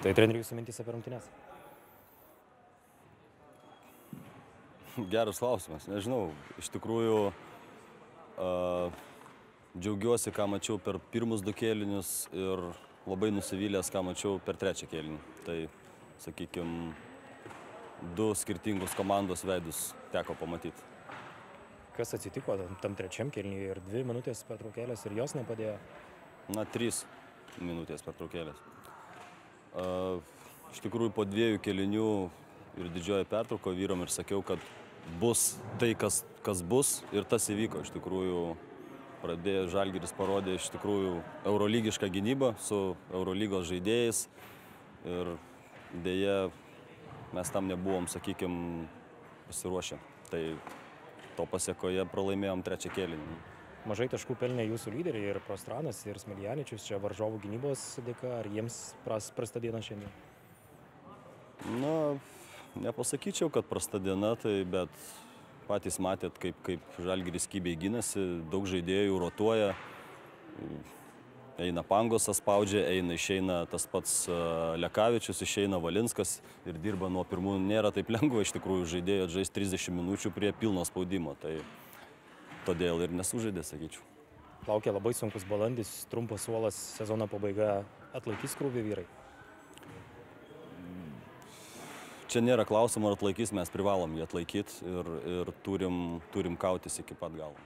Tai treneriui jūsų mintys apie rungtynes? Geras klausimas, nežinau. Iš tikrųjų, džiaugiuosi, ką mačiau per pirmus 2 kėlinius ir labai nusivylęs, ką mačiau per 3 kėlinį. Tai, sakykime, 2 skirtingus komandos veidus teko pamatyti. Kas atsitiko tam 3 kėlinyje ir 2 minutės pertraukėlės ir jos nepadėjo? Na, 3 minutės pertraukėlės. Iš tikrųjų, po 2 kėlinių ir didžioji pertrauko vyram ir sakiau, kad bus tai, kas bus, ir tas įvyko. Iš tikrųjų, Žalgiris parodė iš tikrųjų eurolygišką gynybą su Eurolygos žaidėjais ir dėja mes tam nebuvom, sakykime, pasiruošę. Tai to pasiekoje pralaimėjom 3 kėlinį. Mažai taškų pelnė jūsų lyderiai ir Prostranas, ir Smiljaničius, čia varžovų gynybos dėka, ar jiems prasta diena šiandien? Na, nepasakyčiau, kad prasta diena, bet patys matėt, kaip Žalgiris kybiai gynasi, daug žaidėjų rotuoja, eina Pangosas spaudžia, išeina tas pats Lekavičius, išeina Valinskas ir dirba nuo pirmų. Nėra taip lengva iš tikrųjų žaidėjo atžaisti 30 minučių prie pilno spaudimo, tai todėl ir nesužaidė, sakyčiau. Laukia labai sunkus balandis, trumpas suolas, sezono pabaiga, atlaikys krūvį vyrai? Čia nėra klausimo, ar atlaikys, mes privalom jį atlaikyti ir turim kautis iki pat galo.